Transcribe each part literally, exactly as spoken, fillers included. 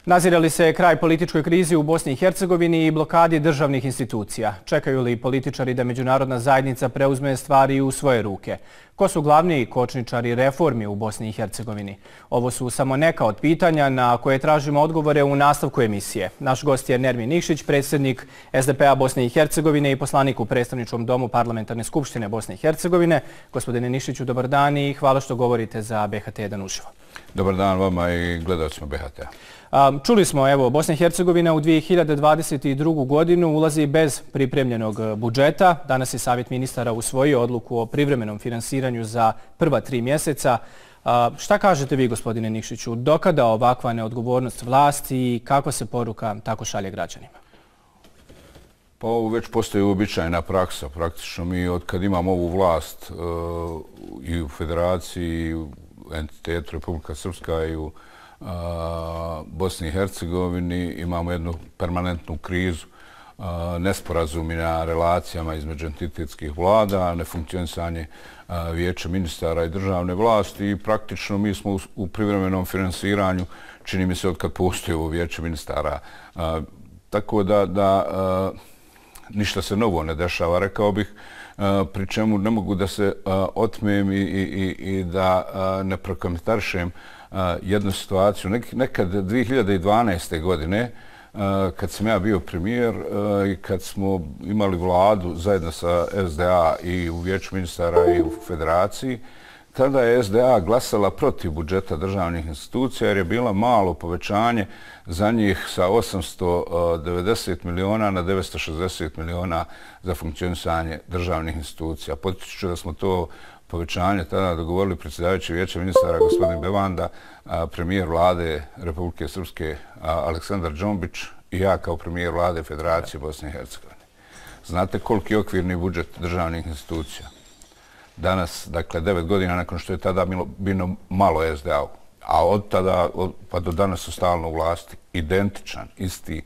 Nazire li se kraj političkoj krizi u Bosni i Hercegovini i blokadi državnih institucija? Čekaju li političari da međunarodna zajednica preuzme stvari u svoje ruke? Ko su glavni kočničari reformi u Bosni i Hercegovini? Ovo su samo neka od pitanja na koje tražimo odgovore u nastavku emisije. Naš gost je Nermin Nikšić, predsjednik S D P-a Bosne i Hercegovine i poslanik u Predstavničkom domu Parlamentarne skupštine Bosne i Hercegovine. Gospodine Nikšiću, dobar dan i hvala što govorite za B H T jedan uživo. Dobar dan vama i gledalcima B H T-a. Čuli smo, evo, Bosna i Hercegovina u dvije hiljade dvadeset drugu. godinu ulazi bez pripremljenog budžeta. Danas je Savjet ministara usvojio odluku o privremenom finansiranju za prva tri mjeseca. Šta kažete vi, gospodine Nikšiću, dokada ovakva neodgovornost vlasti i kako se poruka tako šalje građanima? Pa ovo već postoji uobičajena praksa. Praktično mi od kad imamo ovu vlast i u Federaciji, i u entitetu Republika Srpska i u Bosni i Hercegovini imamo jednu permanentnu krizu, nesporazumi na relacijama između entitetskih vlada, nefunkcionisanje vijeća ministara i državne vlasti i praktično mi smo u privremenom finansiranju, čini mi se od kad postoji ovo vijeće ministara. Tako da, da ništa se novo ne dešava, rekao bih, pri čemu ne mogu da se otmem i, i, i da ne prokomentarišem jednu situaciju. Nekad dvije hiljade dvanaeste. godine, kad sam ja bio premijer i kad smo imali vladu zajedno sa S D A i u vijeću ministara i u Federaciji, tada je S D A glasala protiv budžeta državnih institucija jer je bila malo povećanje za njih sa osamsto devedeset miliona na devetsto šezdeset miliona za funkcionisanje državnih institucija. Podsjećam da smo to povećanje tada dogovorili predsjedavajući vijeća ministara gospodin Bevanda, premijer vlade Republike Srpske Aleksandar Džombić i ja kao premijer vlade Federacije Bosne i Hercegovine. Znate koliki je okvirni budžet državnih institucija? Danas, dakle, devet godina nakon što je tada bilo malo S D A-u, a od tada pa do danas su stalno u vlasti, identičan, isti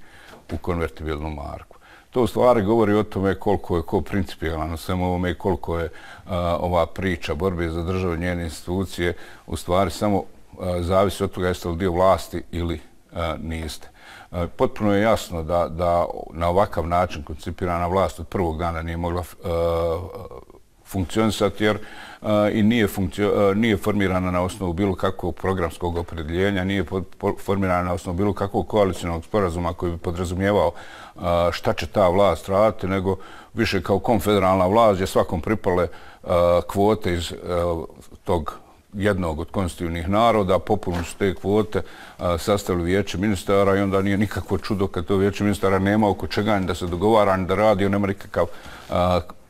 u konvertibilnu marku. To u stvari govori o tome koliko je ko principijalan na svemu ovome i koliko je a, ova priča borbe za državu i njene institucije u stvari samo a, zavisi od toga jeste li dio vlasti ili a, niste. A, potpuno je jasno da, da na ovakav način koncipirana vlast od prvog dana nije mogla a, funkcionisati jer uh, i nije, funkcio, uh, nije formirana na osnovu bilo kakvog programskog opredjeljenja, nije pod, po, formirana na osnovu bilo kakvog koalicionog sporazuma koji bi podrazumijevao uh, šta će ta vlast raditi, nego više kao konfederalna vlast gdje svakom pripale uh, kvote iz uh, tog jednog od konstitutivnih naroda, popuno su te kvote uh, sastavili vijeće ministara i onda nije nikakvo čudo kad to vijeće ministara nema oko čega ni da se dogovara, ni da radi, nema nikakav uh,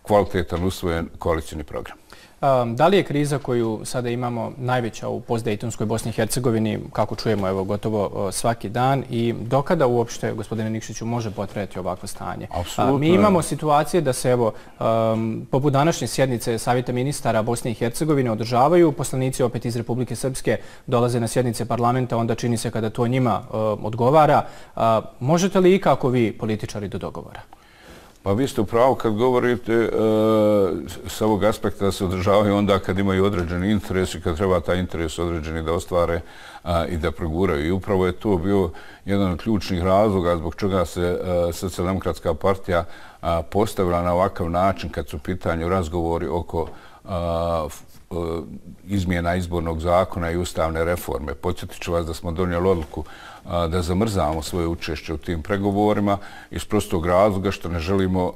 kvalitetan usvojen koalicijni program. Um, da li je kriza koju sada imamo najveća u postdejtonskoj Bosni i Hercegovini, kako čujemo evo, gotovo uh, svaki dan, i dokada uopšte, gospodine Nikšiću, može potrajati ovakvo stanje? Apsolutno. Uh, mi imamo situacije da se, evo, um, poput današnje sjednice Savjeta ministara Bosne i Hercegovine održavaju, poslanici opet iz Republike Srpske dolaze na sjednice parlamenta, onda čini se kada to njima uh, odgovara. Uh, možete li ikako vi, političari, do dogovora? Pa vi ste u pravu kad govorite e, s ovog aspekta da se održavaju onda kad imaju određeni interes i kad treba taj interes određeni da ostvare a, i da proguraju. I upravo je to bio jedan od ključnih razloga zbog čega se a, Socijaldemokratska partija a, postavila na ovakav način kad su u pitanju razgovori oko a, f, a, izmjena izbornog zakona i ustavne reforme. Podsjetit ću vas da smo donijeli odluku da zamrzavamo svoje učešće u tim pregovorima iz prostog razloga što ne želimo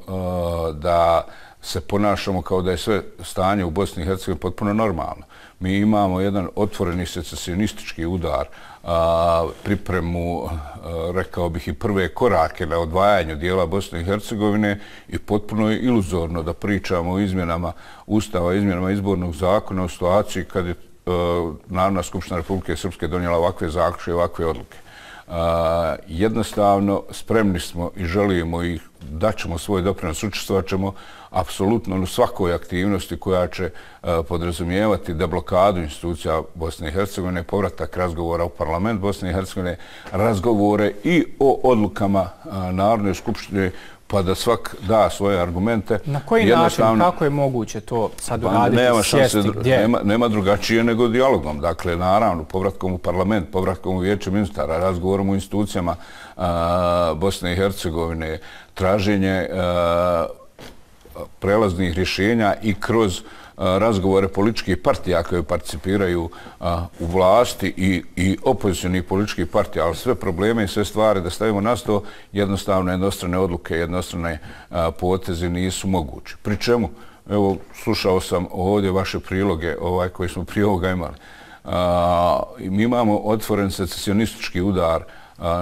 da se ponašamo kao da je sve stanje u Bosni i Hercegovini potpuno normalno. Mi imamo jedan otvoreni secesionistički udar, pripremu, rekao bih, i prve korake na odvajanju dijela Bosne i Hercegovine i potpuno je iluzorno da pričamo o izmjenama Ustava, izmjenama izbornog zakona u situaciji kad je Narodna skupština Republike Srpske donijela ovakve zaključke i ovakve odluke. Uh, jednostavno spremni smo i želimo i daćemo svoj doprinos, učestvovat ćemo apsolutno u svakoj aktivnosti koja će uh, podrazumijevati deblokadu institucija Bosne i Hercegovine, povratak razgovora u parlament Bosne i Hercegovine, razgovore i o odlukama uh, Narodne skupštine pa da svak da svoje argumente. Na koji način, kako je moguće to sad uraditi, sjesti, gdje? Nema, nema drugačije nego dijalogom. Dakle, naravno, povratkom u parlament, povratkom u vijeće ministara, razgovorom u institucijama a, Bosne i Hercegovine, traženje a, prelaznih rješenja i kroz razgovore političkih partija koje participiraju a, u vlasti i, i opozicionih političkih partija, ali sve probleme i sve stvari da stavimo na sto, jednostavno jednostrane odluke, jednostrane a, poteze nisu mogući. Pri čemu, evo, slušao sam ovdje vaše priloge ovaj, koji smo prije ovoga imali. A, mi imamo otvoren secesionistički udar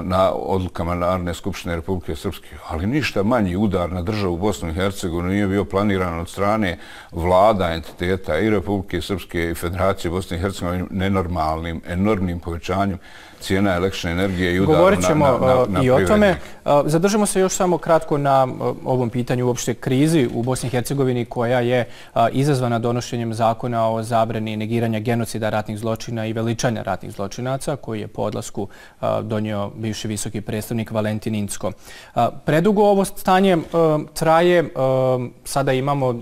na odlukama Narodne skupštine Republike Srpske, ali ništa manji udar na državu Bosnu i Hercegovinu nije bio planiran od strane vlada, entiteta i Republike Srpske i Federacije Bosne i Hercegovine nenormalnim, enormnim povećanjem cijena električne energije i udaru na, Govorit ćemo na, na, na i o tome. Zadržimo se još samo kratko na ovom pitanju uopšte krizi u Bosni i Hercegovini koja je izazvana donošenjem zakona o zabrani negiranja genocida, ratnih zločina i veličanja ratnih zločinaca koji je po odlasku donio bivši visoki predstavnik Valentin Incko. Predugo ovo stanje traje. Sada imamo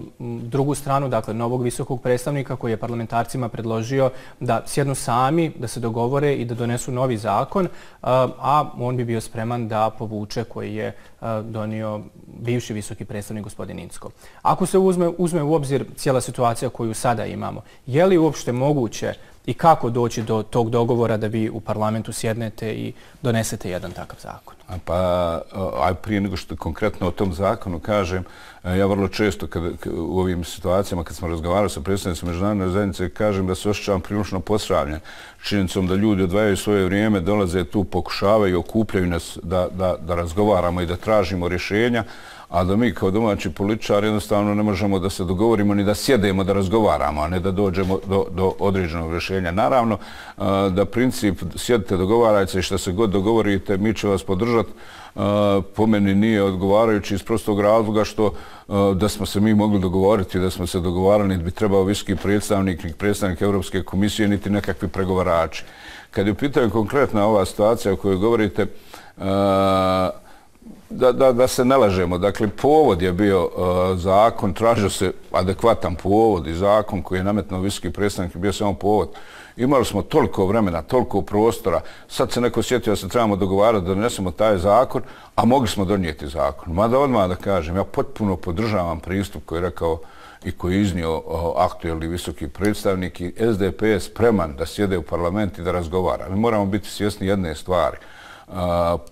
drugu stranu, dakle novog visokog predstavnika koji je parlamentarcima predložio da sjednu sami, da se dogovore i da donesu novi zakon, a on bi bio spreman da povuče koji je donio bivši visoki predstavnik gospodin Incko. Ako se uzme, uzme u obzir cijela situacija koju sada imamo, je li uopšte moguće i kako doći do tog dogovora da vi u parlamentu sjednete i donesete jedan takav zakon? Pa, aj prije nego što konkretno o tom zakonu kažem, ja vrlo često kad, u ovim situacijama kad smo razgovarali sa predstavnicima međunarodne zajednice kažem da se osjećavam prilično posramljen činjenicom da ljudi odvajaju svoje vrijeme, dolaze tu, pokušavaju, okupljaju nas da, da, da razgovaramo i da tražimo rješenja, a da mi kao domaći političari jednostavno ne možemo da se dogovorimo ni da sjedemo da razgovaramo, a ne da dođemo do, do određenog rješenja. Naravno da princip sjedite, dogovarajte i što se god dogovorite, mi će vas podržati. Po meni nije odgovarajući iz prostog razloga što da smo se mi mogli dogovoriti, da smo se dogovarali, niti bi trebao visoki predstavnik, niti predstavnik Europske komisije, niti nekakvi pregovarači. Kad je u pitanju konkretna ova situacija o kojoj govorite, Da, da, da se ne lažemo. Dakle, povod je bio uh, zakon, tražio se adekvatan povod i zakon koji je nametnuo visoki predstavnik, bio samo povod. Imali smo toliko vremena, toliko prostora, sad se neko sjetio da se trebamo dogovarati da donesemo taj zakon, a mogli smo donijeti zakon. Mada odmah da kažem, ja potpuno podržavam pristup koji je rekao i koji je iznio uh, aktuelni visoki predstavnik i S D P je spreman da sjede u parlament i da razgovara. Mi moramo biti svjesni jedne stvari. Uh,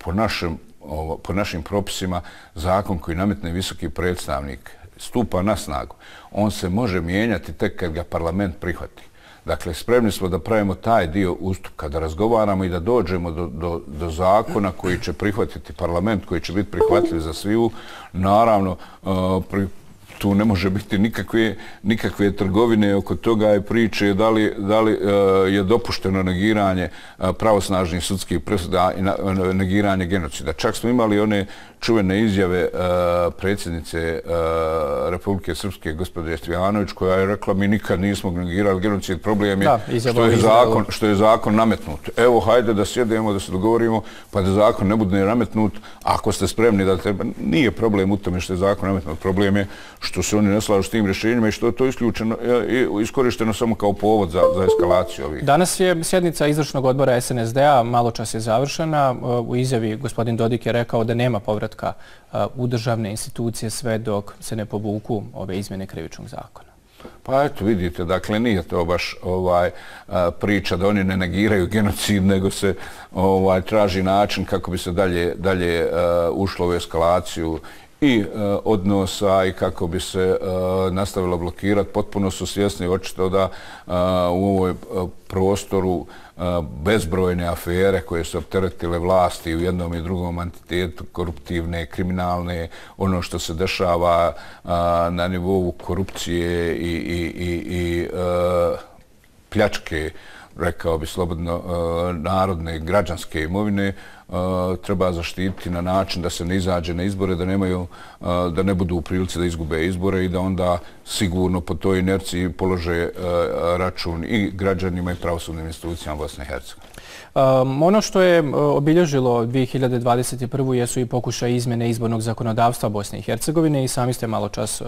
po našem Ovo, po našim propisima, zakon koji nametne visoki predstavnik stupa na snagu. On se može mijenjati tek kad ga parlament prihvati. Dakle, spremni smo da pravimo taj dio ustupka, da razgovaramo i da dođemo do, do, do zakona koji će prihvatiti parlament, koji će biti prihvatljiv za sviju. Naravno, uh, pri, tu ne može biti nikakve, nikakve trgovine oko toga i priče da li, da li uh, je dopušteno negiranje uh, pravosnažnih sudskih presuda i na, uh, negiranje genocida. Čak smo imali one čuvene izjave uh, predsjednice uh, Republike Srpske, gospođe Stojanović, koja je rekla mi nikad nismo negirali genocid, problem je da, što, je zakon, što je zakon nametnut. Evo, hajde da sjedemo, da se dogovorimo, pa da zakon ne bude nametnut, ako ste spremni da treba. Nije problem u tome što je zakon nametnut, problem je što se oni ne slažu s tim rješenjima i što je to isključeno i iskorišteno samo kao povod za, za eskalaciju ovih. Danas je sjednica izvršnog odbora S N S D-a, malo čas je završena. U izjavi gospodin Dodik je rekao da nema povratka u državne institucije sve dok se ne povuku ove izmjene krivičnog zakona. Pa eto, vidite, dakle, nije to baš ovaj, priča da oni ne negiraju genocid, nego se ovaj, traži način kako bi se dalje, dalje uh, ušlo u eskalaciju i uh, odnosa i kako bi se uh, nastavilo blokirati. Potpuno su svjesni očito da uh, u ovoj uh, prostoru uh, bezbrojne afere koje su opteretile vlasti u jednom i drugom entitetu, koruptivne, kriminalne, ono što se dešava uh, na nivou korupcije i, i, i, i uh, pljačke rekao bi slobodno, narodne građanske imovine treba zaštititi na način da se ne izađe na izbore, da nemaju, da ne budu u prilici da izgube izbore i da onda sigurno po toj inerciji polože račun i građanima i pravosudnim institucijama Bosne i Hercegovine. Um, ono što je obilježilo dvije hiljade dvadeset prvu jesu i pokušaj izmjene izbornog zakonodavstva Bosne i Hercegovine i sami ste malo čas uh,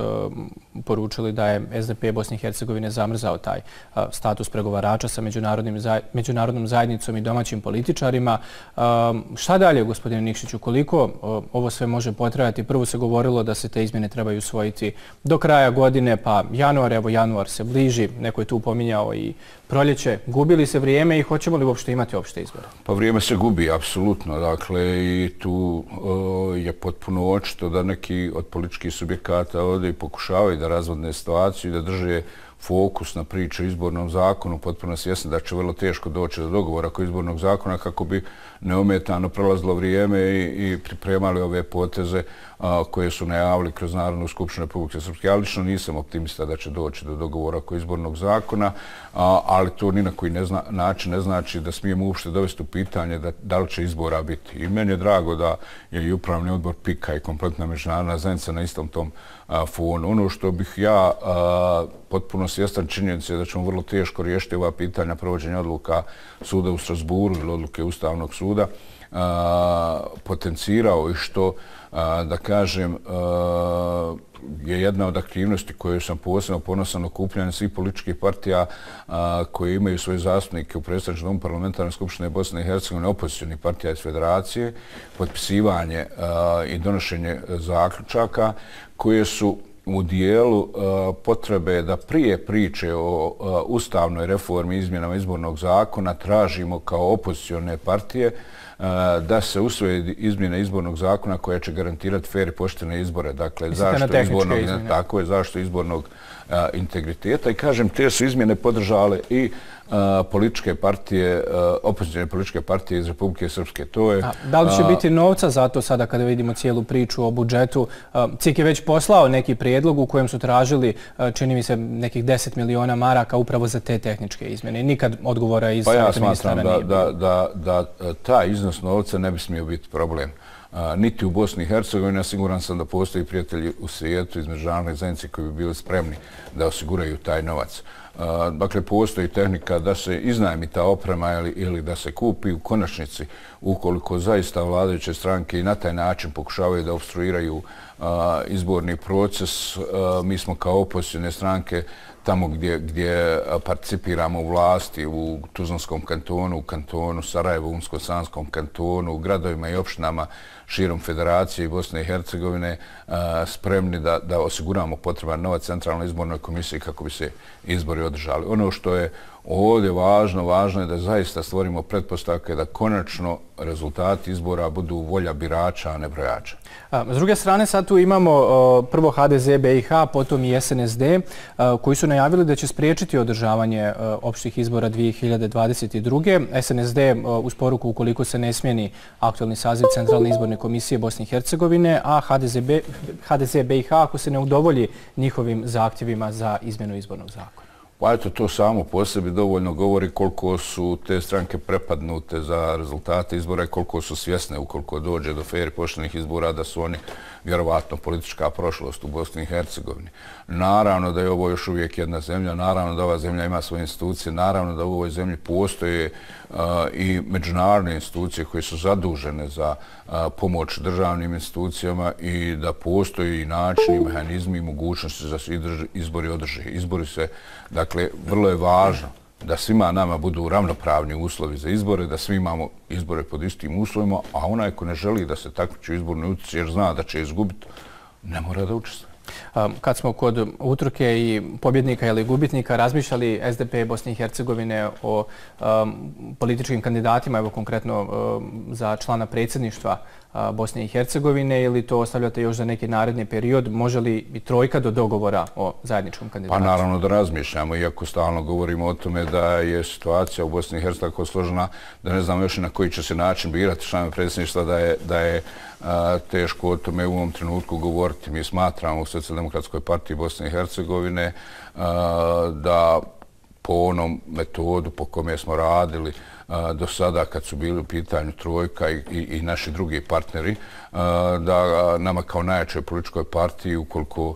poručili da je S D P Bosne i Hercegovine zamrzao taj uh, status pregovarača sa međunarodnim zaj, međunarodnom zajednicom i domaćim političarima. Um, šta dalje, gospodine Nikšiću, koliko uh, ovo sve može potrajati? Prvo se govorilo da se te izmjene trebaju usvojiti do kraja godine, pa januar, evo januar se bliži, neko je tu pominjao i proljeće. Gubi li se vrijeme i hoćemo li uopšte imati opšte izbore? Pa vrijeme se gubi, apsolutno. Dakle, i tu o, je potpuno očito da neki od političkih subjekata ovdje i pokušavaju da razvodne situaciju i da drže fokus na priče o izbornom zakonu, potpuno svjesni da će vrlo teško doći do dogovora oko izbornog zakona kako bi neometano prolazilo vrijeme i, i pripremali ove poteze a, koje su najavili kroz Narodnu skupštinu Republike Srpske. Ja lično nisam optimista da će doći do dogovora oko izbornog zakona, a, ali to ni na koji ne zna, način ne znači da smijemo uopšte dovesti u pitanje da, da li će izbora biti. I meni je drago da je i upravni odbor P I K-a i kompletna međunarodna zajednica na istom tom a, fonu. Ono što bih ja a, potpuno svjestan činjenice da ćemo vrlo teško riješiti ova pitanja provođenja odluka suda u Strasburu ili odluke Ustavnog suda, a, potencirao i što, a, da kažem, a, je jedna od aktivnosti koje sam posebno ponosan okupljanje svih političkih partija a, koje imaju svoje zastupnike u predstavničkom domu Parlamentarne skupštine Bosne i Hercegovine, opozicionih partija iz Federacije, potpisivanje a, i donošenje zaključaka koje su u dijelu uh, potrebe da prije priče o uh, ustavnoj reformi izmjenama izbornog zakona tražimo kao opozicione partije uh, da se usvoje izmjene izbornog zakona koja će garantirati fer i poštene izbore. Dakle, zašto izbornog, tako je, zašto izbornog uh, integriteta. I kažem, te su izmjene podržale i Uh, političke partije, uh, opozicijne političke partije iz Republike Srpske. To je, A, da li će uh, biti novca za to sada kada vidimo cijelu priču o budžetu? Uh, C I K je već poslao neki prijedlog u kojem su tražili, uh, čini mi se, nekih deset miliona maraka upravo za te tehničke izmjene. Nikad odgovora iz pa ja ministara da, nije da, da, da, da taj iznos novca ne bi smio biti problem. Uh, niti u Bosni i Hercegovini, a siguran sam da postoji prijatelji u svijetu iz međunarodne zajednice koji bi bili spremni da osiguraju taj novac. Uh, dakle, postoji tehnika da se iznajmi ta oprema ili, ili da se kupi u konačnici ukoliko zaista vladajuće stranke i na taj način pokušavaju da obstruiraju uh, izborni proces. Uh, mi smo kao opozicione stranke tamo gdje, gdje participiramo u vlasti, u Tuzlanskom kantonu, u kantonu Sarajevo, u Unsko-Sanskom kantonu, u gradovima i opštinama širom Federacije i Bosne i Hercegovine, spremni da, da osiguramo potreban novac Centralnoj izbornoj komisiji kako bi se izbori održali. Ono što je ovdje važno, važno je da zaista stvorimo pretpostavke da konačno rezultati izbora budu volja birača, a ne brojača. S druge strane, sad tu imamo prvo H D Z B I H, potom i S N S D, koji su najavili da će spriječiti održavanje opštih izbora dvije hiljade dvadeset druge. S N S D uz poruku ukoliko se ne smijeni aktualni saziv Centralne izborne komisije Bosne i Hercegovine, a H D Z B I H ako se ne udovolji njihovim zahtjevima za izmjenu izbornog zakona. Pa eto, to samo po sebi dovoljno govori koliko su te stranke prepadnute za rezultate izbora i koliko su svjesne ukoliko dođe do fer i poštenih izbora da su oni vjerovatno politička prošlost u Bosni i Hercegovini. Naravno da je ovo još uvijek jedna zemlja, naravno da ova zemlja ima svoje institucije, naravno da u ovoj zemlji postoje uh, i međunarodne institucije koje su zadužene za uh, pomoć državnim institucijama i da postoji i načini, mehanizmi i mogućnosti da se izbori održe. Izbori se, dakle, vrlo je važno da svima nama budu ravnopravni uslovi za izbore, da svi imamo izbore pod istim uslovima, a onaj ko ne želi da se takmiči u izbornoj utrci jer zna da će izgubiti, ne mora da učestvuje. Kad smo kod utrke i pobjednika ili gubitnika razmišljali S D P Bosne i Hercegovine o um, političkim kandidatima, evo konkretno um, za člana predsjedništva uh, Bosne i Hercegovine, ili to ostavljate još za neki naredni period? Može li i trojka do dogovora o zajedničkom kandidatu? Pa naravno da razmišljamo, iako stalno govorimo o tome da je situacija u Bosni i Hercegovini tako složena da ne znamo još i na koji će se način birati članove predsjedništva, da je, da je a, teško o tome u ovom trenutku govoriti. Mi smatramo u Socijaldemokratskoj partiji Bosne i Hercegovine a, da po onom metodu po kome smo radili do sada kad su bili u pitanju Trojka i, i, i naši drugi partneri, da nama kao najjačoj političkoj partiji, ukoliko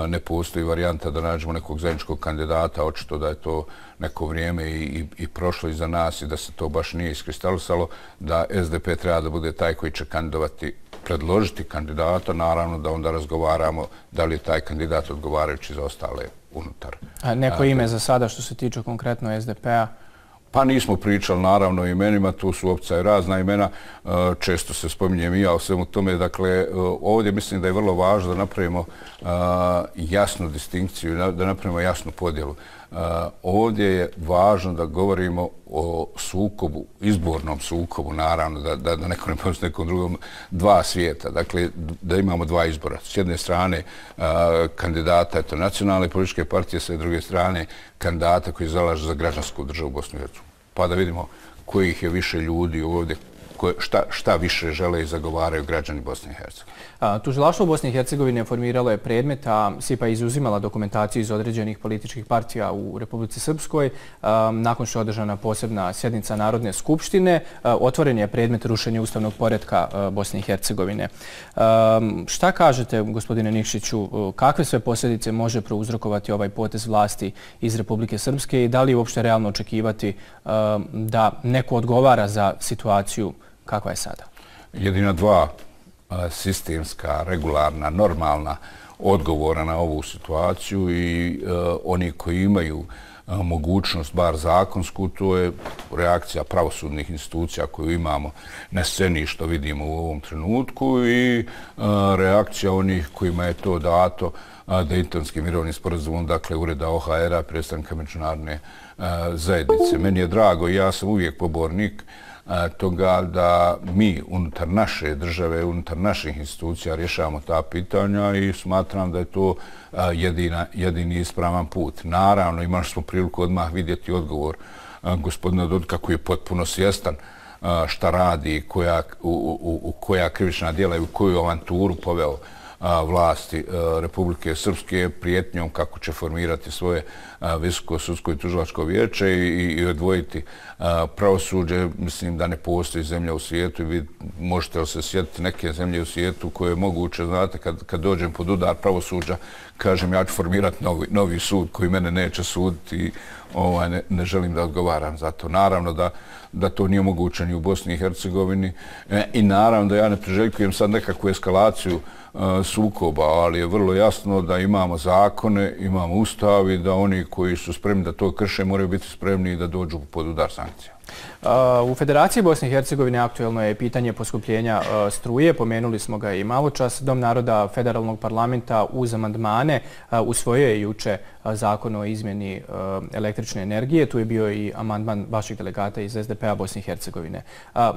ne postoji varijanta da nađemo nekog zajedničkog kandidata, očito da je to neko vrijeme i, i, i prošlo iza nas i da se to baš nije iskristalisalo, da S D P treba da bude taj koji će kandidovati, predložiti kandidata, naravno da onda razgovaramo da li je taj kandidat odgovarajući za ostale unutar. A neko ime za sada što se tiče konkretno S D P-a? Pa nismo pričali naravno o imenima, tu su opcija i razna imena, često se spominjem i ja o svemu tome. Dakle, ovdje mislim da je vrlo važno da napravimo jasnu distinkciju, da napravimo jasnu podjelu. Ovdje je važno da govorimo o sukobu, izbornom sukobu, naravno, da, da, da neko ne postoji nekom drugom, dva svijeta. Dakle, da imamo dva izbora. S jedne strane kandidata, eto, nacionalne političke partije, s druge strane kandidata koji zalaže za građansku državu Bosnu i Hercegovinu. Pa da vidimo kojih je više ljudi ovdje, koje, šta, šta više žele i zagovaraju građani Bosne i Hercegovine. Tužilaštvo Bosne i Hercegovine formiralo je predmet, a S I P A izuzimala dokumentaciju iz određenih političkih partija u Republici Srpskoj. Nakon što je održana posebna sjednica Narodne skupštine, otvoren je predmet rušenja ustavnog poretka Bosne i Hercegovine. Šta kažete, gospodine Nikšiću, kakve sve posljedice može prouzrokovati ovaj potez vlasti iz Republike Srpske i da li je uopšte realno očekivati da neko odgovara za situaciju kakva je sada? Jedina dva sistemska, regularna, normalna odgovora na ovu situaciju i uh, oni koji imaju uh, mogućnost, bar zakonsku, to je reakcija pravosudnih institucija koju imamo na sceni što vidimo u ovom trenutku i uh, reakcija onih kojima je to dato uh, Dejtonskim mirovnim sporazumom, dakle Ureda O H R-a, predstavnika međunarodne uh, zajednice. Meni je drago i ja sam uvijek pobornik toga da mi unutar naše države, unutar naših institucija rješavamo ta pitanja i smatram da je to jedina, jedini ispravan put. Naravno, imali smo priliku odmah vidjeti odgovor gospodina Dodika koji je potpuno svjestan šta radi, koja, u, u, u koja krivična djela i u koju avanturu poveo vlasti Republike Srpske prijetnjom kako će formirati svoje visoko sudsko i tužilačko vijeće i, i odvojiti pravosuđe. Mislim da ne postoji zemlja u svijetu i vi možete li se sjetiti neke zemlje u svijetu koje je moguće, znate, kad, kad dođem pod udar pravosuđa, kažem ja ću formirati novi, novi sud koji mene neće suditi i ovaj, ne, ne želim da odgovaram za to. Naravno da, da to nije moguće ni u Bosni i Hercegovini e, i naravno da ja ne priželjkujem sad nekakvu eskalaciju sukoba, ali je vrlo jasno da imamo zakone, imamo ustav i da oni koji su spremni da to krše moraju biti spremni da dođu pod udar sankcija. U Federaciji Bosne i Hercegovine aktuelno je pitanje poskupljenja struje. Pomenuli smo ga i malo čas. Dom naroda Federalnog parlamenta uz amandmane usvojio je juče zakon o izmjeni električne energije. Tu je bio i amandman vaših delegata iz S D P-a Bosne i Hercegovine.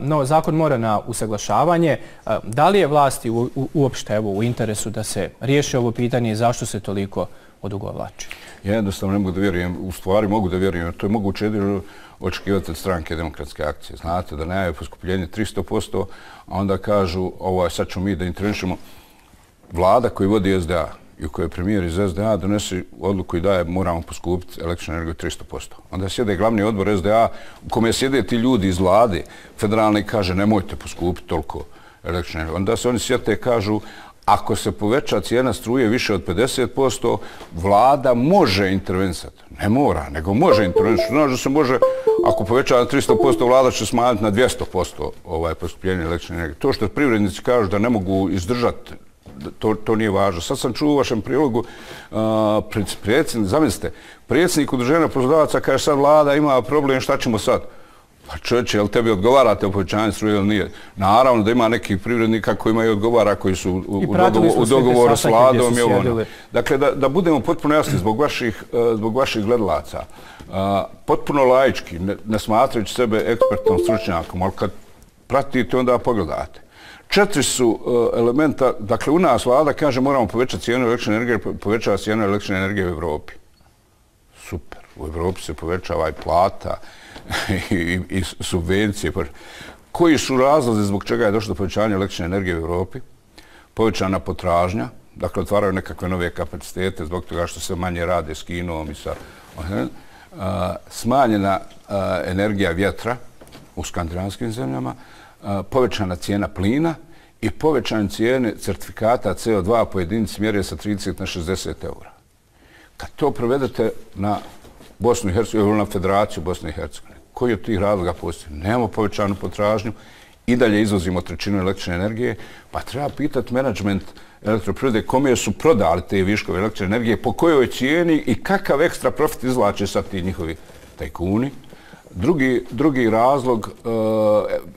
No, zakon mora na usaglašavanje. Da li je vlasti uopšte evo, u interesu da se riješi ovo pitanje i zašto se toliko odugovlači? Ja jednostavno ne mogu da vjerujem, u stvari mogu da vjerujem, to je moguće jedino očekivati od stranke Demokratske akcije. Znate da najave poskupljenje tristo posto, a onda kažu ovaj, sad ćemo mi da intervenišemo. Vlada koji vodi S D A i u kojoj je premijer iz S D A donese odluku i daje moramo poskupiti električnu energiju tristo posto. Onda sjede glavni odbor S D A u kome sjede ti ljudi iz vlade federalne i kaže nemojte poskupiti toliko električnu energiju. Onda se oni sjete i kažu ako se poveća cijena struje više od pedeset posto, vlada može intervenisati. Ne mora, nego može intervenisati. Znači da se može, ako poveća na tristo posto, vlada će smanjiti na dvjesto posto ovaj poskupljenje električne energije. To što privrednici kažu da ne mogu izdržati, to, to nije važno. Sad sam čuo u vašem prilogu, uh, predsjednik, zamislite, predsjednik udruženja poslodavaca kaže sad vlada ima problem, šta ćemo sad? Pa čovječe, jel tebi odgovarate o povećanju struje ili nije? Naravno da ima nekih privrednika kojima i odgovara, koji su u, u, dogovor, u dogovoru s vladom. I ono. Dakle, da, da budemo potpuno jasni zbog vaših, zbog vaših gledalaca, uh, potpuno laički, ne, ne smatrajući sebe ekspertnom stručnjakom, ali kad pratite onda pogledate. Četiri su uh, elementa, dakle u nas vlada kaže moramo povećati cijenu električne energije, povećava cijenu električne energije u Evropi. Super, u Evropi se povećava i plata, I, i, i subvencije. Koji su razlozi zbog čega je došlo do povećanja električne energije u Evropi? Povećana potražnja, dakle otvaraju nekakve nove kapacitete zbog toga što se manje rade s Kinom i sa... smanjena energija vjetra u skandinavskim zemljama, povećana cijena plina i povećanje cijene certifikata C O dva po jedinici mjere sa trideset na šezdeset eura. Kad to provedete na Bosnu i Hercegovinu ili na Federaciju Bosne i Hercegovine, koji od tih razloga postoji? Nemamo povećanu potražnju, i dalje izvozimo trećinu električne energije, pa treba pitati menadžment elektroprivrede kome su prodali te viškove električne energije, po kojoj cijeni i kakav ekstra profit izvlače sad ti njihovi tajkuni. Drugi, drugi razlog, e,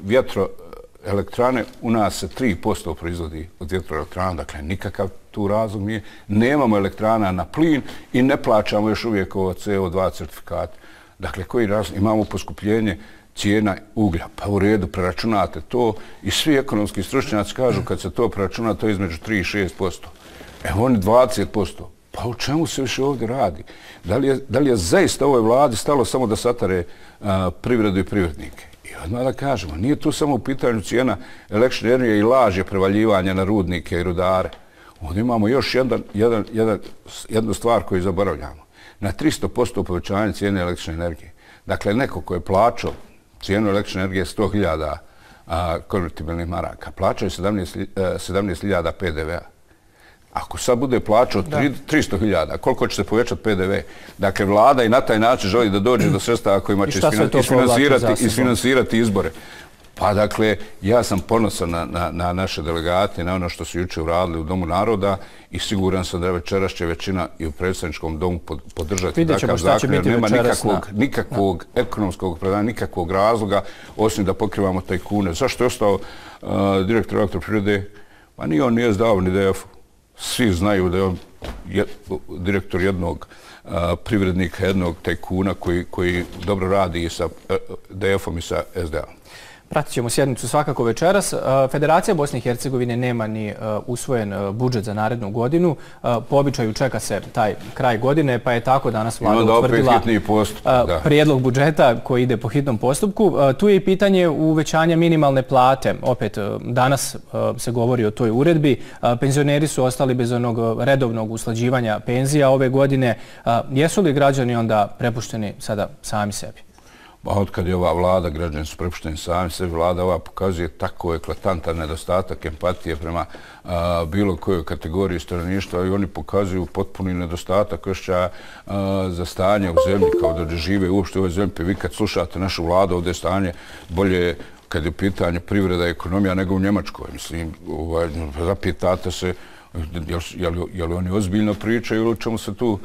vjetroelektrane, u nas se tri posto proizvodi od vjetroelektrana, dakle nikakav tu razlog nije. Nemamo elektrana na plin i ne plaćamo još uvijek ovo C O dva certifikate. Dakle, koji razlog? Imamo poskupljenje cijena uglja. Pa u redu, preračunate to i svi ekonomski stručnjaci kažu kad se to preračuna, to je između tri i šest posto. Evo oni dvadeset posto. Pa u čemu se više ovdje radi? Da li je, da li je zaista ovoj vladi stalo samo da satare a, privredu i privrednike? I odmah da kažemo, nije tu samo u pitanju cijena električne energije i lažje prevaljivanja na rudnike i rudare. Ovdje imamo još jedan, jedan, jedan, jednu stvar koju zaboravljamo. Na tristo posto povećanje cijene električne energije. Dakle, neko ko je plaćao cijenu električne energije sto hiljada konvertibilnih maraka, plaćaju sedamnaest hiljada P D V a. Ako sad bude plaćao tristo hiljada, koliko će se povećati P D V? Dakle, vlada i na taj način želi da dođe do sredstava kojima će isfinansirati, isfinansirati izbore. Pa dakle, ja sam ponosan na, na, na naše delegate, na ono što su juče uradili u Domu naroda i siguran sam da večeras će većina i u predsjedničkom domu podržati takav zakon, jer nema nikakvog, nikakvog ekonomskog opravdanja, nikakvog razloga, osim da pokrivamo tajkune. Zašto je ostao uh, direktor elektroprivrede? Pa nije on nije zdao ni D F-u. Svi znaju da je on je, direktor jednog uh, privrednika, jednog tajkuna koji, koji dobro radi i sa uh, D F-om i sa S D A-om. Pratit ćemo sjednicu svakako večeras. Federacija Bosne i Hercegovine nema ni usvojen budžet za narednu godinu. Po običaju čeka se taj kraj godine, pa je tako danas vlada utvrdila prijedlog budžeta koji ide po hitnom postupku. Tu je i pitanje uvećanja minimalne plate. Opet, danas se govori o toj uredbi. Penzioneri su ostali bez onog redovnog usklađivanja penzija ove godine. Jesu li građani onda prepušteni sada sami sebi? Od kad je ova vlada, građani su prepušteni sami sebi, vlada ova pokazuje tako eklatantan nedostatak empatije prema a, bilo kojoj kategoriji stanovništva i oni pokazuju potpuni nedostatak osjećaja za stanje u zemlji, kao da žive uopšte u ovoj zemlji. Vi kad slušate našu vladu, ovdje je stanje bolje kad je pitanje privreda i ekonomija nego u Njemačkoj. Mislim, ovaj, zapitate se je li oni ozbiljno pričaju ili o čemu se tu uh,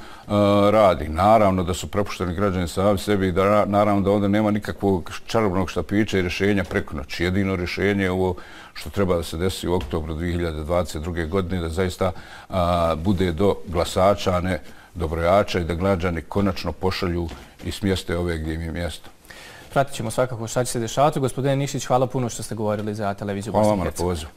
radi. Naravno da su prepušteni građani sami sebi i da, naravno da ovdje nema nikakvog čarobnog štapića i rješenja preko noći. Jedino rješenje je ovo što treba da se desi u oktobru dvije hiljade dvadeset druge. godine, da zaista uh, bude do glasača, a ne do brojača i da građani konačno pošalju i smjeste ove gdje im je mjesto. Pratit ćemo svakako šta će se dešavati. Gospodine Nikšić, hvala puno što ste govorili za televiziju Bosne i Hercegovine. Hvala vam na pozivu.